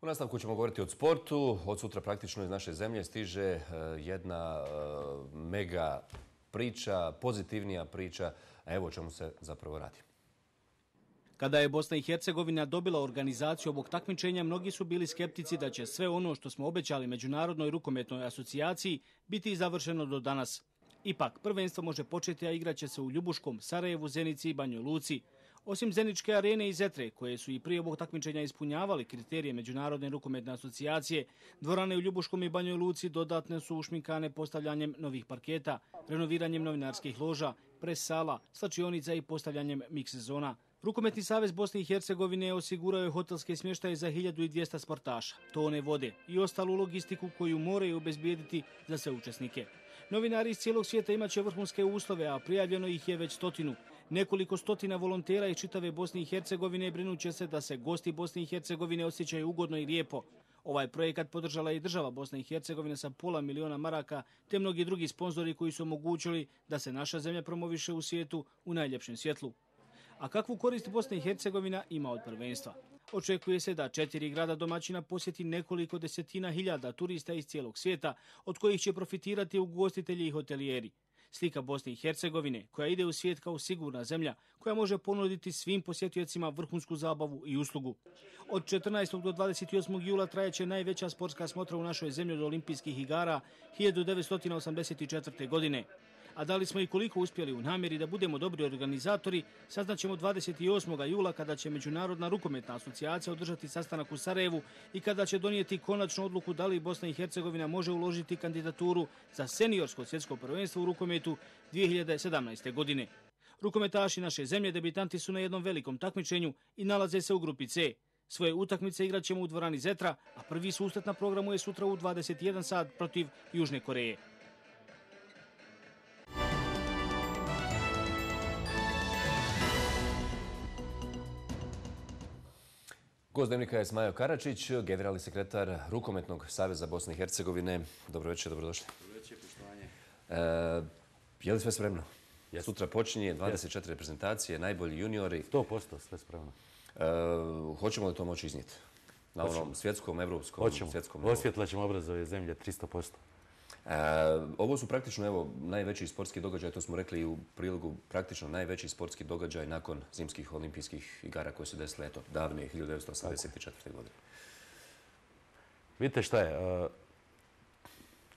U nastavku ćemo govoriti o sportu. Od sutra praktično iz naše zemlje stiže jedna mega priča, pozitivnija priča. A evo o čemu se zapravo radi. Kada je Bosna i Hercegovina dobila organizaciju ovog takmičenja, mnogi su bili skeptici da će sve ono što smo obećali Međunarodnoj rukometnoj asocijaciji biti završeno do danas. Ipak, prvenstvo može početi, a igraće se u Ljubuškom, Sarajevu, Zenici i Banjoj Luci. Osim Zeničke arene i Zetre, koje su i prije ovog takmičenja ispunjavali kriterije Međunarodne rukometne asocijacije, dvorane u Ljubuškom i Banjoj Luci dodatne su ušminkane postavljanjem novih parketa, renoviranjem novinarskih loža, pres sala, slačionica i postavljanjem miks zona. Rukometni savez Bosne i Hercegovine osigurao je hotelske smještaje za 1200 sportaša, tone vode i ostalu logistiku koju moraju obezbijediti za sve učesnike. Novinari iz cijelog svijeta imaće vrhunske uslove, a prijavljeno ih je već 100. Nekoliko stotina volontera iz čitave Bosne i Hercegovine brinuće se da se gosti Bosne i Hercegovine osjećaju ugodno i lijepo. Ovaj projekat podržala je i država Bosne i Hercegovine sa $500 000 te mnogi drugi sponzori koji su omogućili da se naša zemlja promoviše u svijetu u najljepšem svjetlu. A kakvu korist Bosna i Hercegovina ima od prvenstva? Očekuje se da 4 grada domaćina posjeti nekoliko desetina hiljada turista iz cijelog svijeta, od kojih će profitirati ugostitelji i hotelijeri. Slika Bosne i Hercegovine, koja ide u svijet kao sigurna zemlja, koja može ponuditi svim posjetiocima vrhunsku zabavu i uslugu. Od 14. do 28. jula trajaće najveća sportska smotra u našoj zemlji od olimpijskih igara 1984. godine. A da li smo i koliko uspjeli u namjeri da budemo dobri organizatori, saznaćemo 28. jula kada će Međunarodna rukometna asocijacija održati sastanak u Sarajevu i kada će donijeti konačnu odluku da li Bosna i Hercegovina može uložiti kandidaturu za seniorsko svjetsko prvenstvo u rukometu 2017. godine. Rukometaši naše zemlje debitanti su na jednom velikom takmičenju i nalaze se u grupi C. Svoje utakmice igrat ćemo u dvorani Zetra, a prvi susret na programu je sutra u 21 sat protiv Južne Koreje. Gost Dnevnika je Smajo Karačić, generalni sekretar Rukometnog saveza Bosne i Hercegovine. Dobro večer, dobrodošli. Dobro večer, poštovanje. Je li sve spremno? Sutra počinje 24 reprezentacije, najbolji juniori. 100% sve spremno. Hoćemo li to moći iznijeti? Na onom svjetskom, evropskom, svjetskom nivou? Osvjetlat ćemo obraz ove zemlje 300%. Ovo su praktično najveći sportski događaj, to smo rekli i u prilogu, praktično najveći sportski događaj nakon zimskih olimpijskih igara koje su desile davne 1984. godine. Vidite šta je,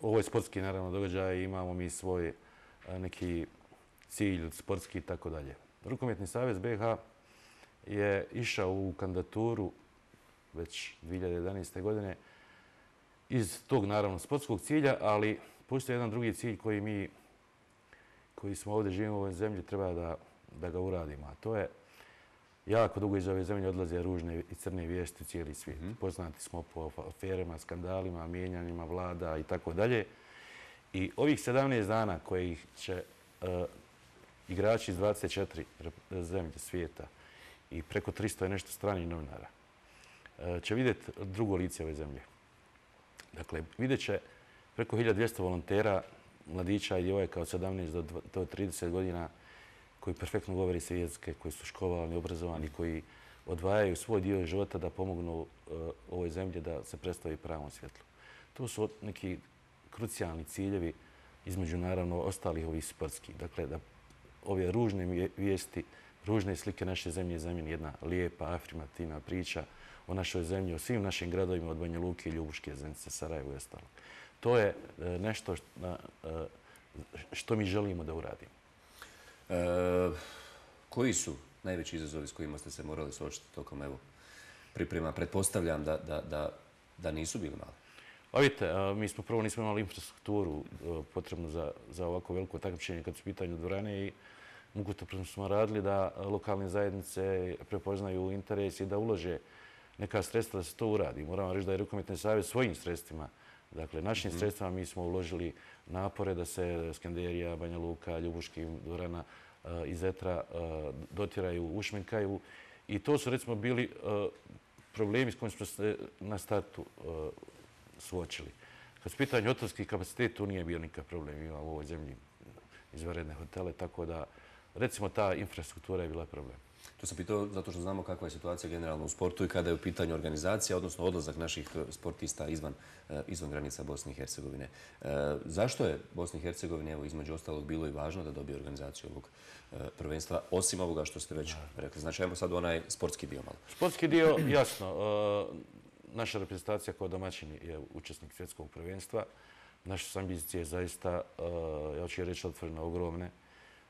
ovo je sportski naravno događaj, imamo mi svoj neki cilj sportski i tako dalje. Rukometni savez BiH je išao u kandidaturu već 2011. godine iz tog, naravno, sportskog cilja, ali postoji jedan drugi cilj koji smo ovdje živimo u ovoj zemlji, treba da ga uradimo. A to je, jako dugo iz ove zemlje odlaze ružne i crne vijesti u cijeli svijet. Poznati smo po aferama, skandalima, mijenjanjima vlada i tako dalje. I ovih 17 dana kojih će igrači iz 24 zemlje svijeta i preko 300 je nešto stranih novinara će vidjeti drugo lice ove zemlje. Dakle, vidjet će preko 1200 volontera, mladića i djevojaka od 17 do 30 godina koji perfektno govori sve jezike, koji su školovani, obrazovani, koji odvajaju svoj dio života da pomognu ovoj zemlji da se predstavi pravom svjetlu. To su neki krucijalni ciljevi između, naravno, ostalih ovih sportskih. Dakle, da ove ružne vijesti, ružne slike naše zemlje zamijeni jedna lijepa, afirmativna priča o našoj zemlji, o svim našim gradovima od Banja Luke, Ljubuške, Zenice, Sarajevo i ostalo. To je nešto što mi želimo da uradimo. Koji su najveći izazovi s kojima ste se morali suočiti tokom priprema? Pretpostavljam da nisu bili mali. Vidite, mi smo prvo nismo imali infrastrukturu potrebnu za ovako veliko takmičenje kad su u pitanju dvorane i mukotrpno smo radili da lokalne zajednice prepoznaju interes i da ulože neka sredstva da se to uradi. Moramo reći da je Rukometni savez svojim sredstvima, dakle našim sredstvima, mi smo uložili napore da se Skenderija, Banja Luka, Ljubuški, dvorana i Zetra dotiraju, ušminkaju. I to su, recimo, bili problemi s kojim smo se na startu suočili. Kad su pitanje hotelski kapacitet, tu nije bio nikakav problem. Imamo u ovoj zemlji izvanredne hotele, tako da, recimo, ta infrastruktura je bila problem. To sam pitao zato što znamo kakva je situacija generalno u sportu i kada je u pitanju organizacija, odnosno odlazak naših sportista izvan granica Bosne i Hercegovine. Zašto je Bosni i Hercegovini, evo, između ostalog, bilo i važno da dobije organizaciju ovog prvenstva, osim ovoga što ste već rekli? Znači, ajmo sad onaj sportski dio malo. Sportski dio, jasno. Naša reprezentacija kao domaćin je učesnik svjetskog prvenstva. Naše su ambicije zaista, ja ću je reći otvoreno, ogromne.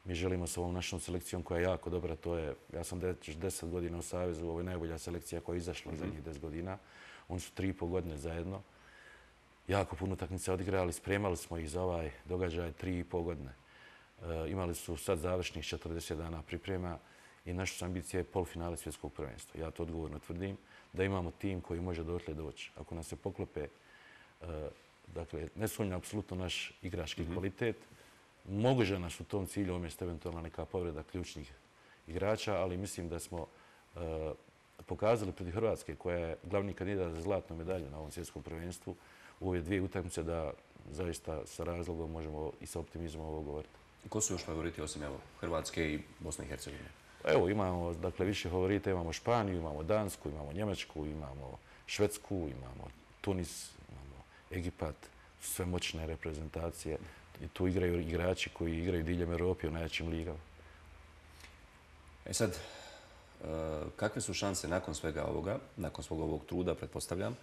Mi želimo s ovom našom selekcijom koja je jako dobra, ja sam 10 godina u Savezu, ovo je najbolja selekcija koja je izašla zadnjih 10 godina. Oni su 3,5 godine zajedno. Jako puno utakmica odigrali, spremali smo ih za ovaj događaj 3,5 godine. Imali su sad završnih 40 dana priprema i naša ambicija je polufinale svjetskog prvenstva. Ja to odgovorno tvrdim, da imamo tim koji može dotle doći. Ako nas se poklope, dakle, ne sumnjam apsolutno naš igrački kvalitet, može nas u tom cilju umjesto eventualno neka povreda ključnih igrača, ali mislim da smo pokazali protiv Hrvatske, koja je glavni kandidat za zlatnu medalju na ovom svjetskom prvenstvu, u ove dvije utakmice da zaista sa razlogom možemo i sa optimizmom ovo govoriti. Ko su još favoriti osim Hrvatske i Bosne i Hercegovine? Evo, imamo više favorita, imamo Španiju, imamo Dansku, imamo Njemačku, imamo Švedsku, imamo Tunis, imamo Egipat, sve moćne reprezentacije. I tu igraju igrači koji igraju diljem Europe u najjačim ligama. Sad, kakve su šanse nakon svega ovoga, nakon svog ovog truda, pretpostavljam,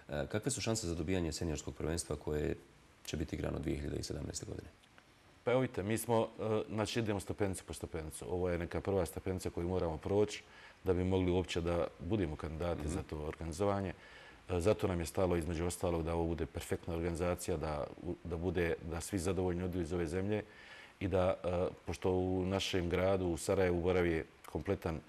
kakve su šanse za dobijanje seniorskog prvenstva koje će biti igrano 2017. godine? Pa evo vidite, mi smo, znači idemo stepenicu po stepenicu. Ovo je neka prva stepenica koju moramo proći da bi mogli uopće da budemo kandidati za to organizovanje. Zato nam je stalo između ostalog da ovo bude perfektna organizacija, da svi zadovoljni odu iz ove zemlje i da, pošto u našem gradu, u Sarajevu, boravi kompletan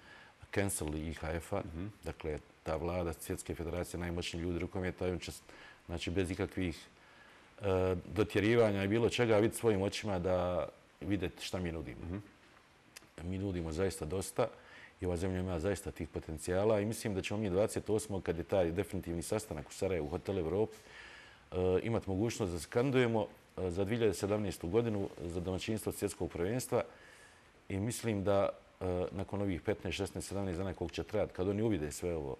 cancel IHF-a, dakle, ta vlada Svjetske federacije, najmoćniji ljudi rukometa, on će, znači, bez ikakvih dotjerivanja i bilo čega vidjeti svojim očima da vidjeti šta mi nudimo. Mi nudimo zaista dosta i ova zemlja ima zaista tih potencijala i mislim da ćemo mi 28. kad je taj definitivni sastanak u Sarajevu u Hotel Evropi imati mogućnost da se kandidujemo za 2017. godinu za domaćinstvo svjetskog prvenstva i mislim da nakon ovih 15, 16, 17 dana koliko će trebati, kad oni uvide sve ovo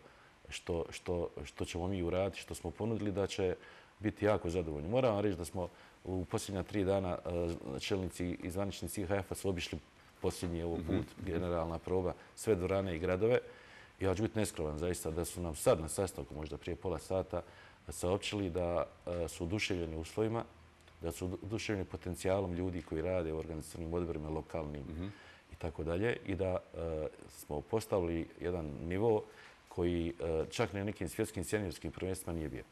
što ćemo mi uraditi, što smo ponudili, da će biti jako zadovoljni. Moram vam reći da smo u posljednja 3 dana čelnici i zvaničnici IHF-a su obišli posljednji ovo put, generalna proba, sve dvorane i gradove. Ja ću biti neskrovan zaista da su nam sad na sastanku, možda prije pola sata, saopćili da su oduševljeni uslovima, da su oduševljeni potencijalom ljudi koji rade u organizacijnim odborima, lokalnim i tako dalje i da smo postavili jedan nivo koji čak na nekim svjetskim seniorskim prvenstvima nije bio.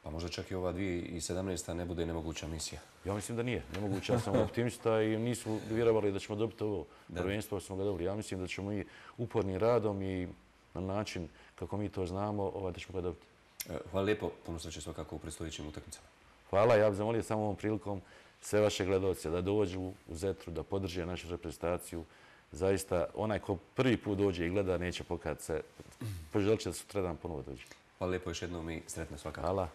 Pa možda čak i ova 2017. ne bude nemoguća misija. Ja mislim da nije nemoguća, ja sam optimista i nismo vjerovali da ćemo dobiti ovo prvenstvo, smo ga dobili. Ja mislim da ćemo i upornim radom i na način kako mi to znamo, da ćemo ga dobiti. Hvala lijepo, puno sreće svakako u predstojećim utakmicama. Hvala, ja bih zamolio samo ovom prilikom sve vaše gledalce da dođu u Zetru, da podrže našu reprezentaciju. Zaista, onaj ko prvi put dođe i gleda neće pokazati se. Poželit će da sutradan ponovo dođe. Hvala lijepo još jednom i sretno svakako. Hvala.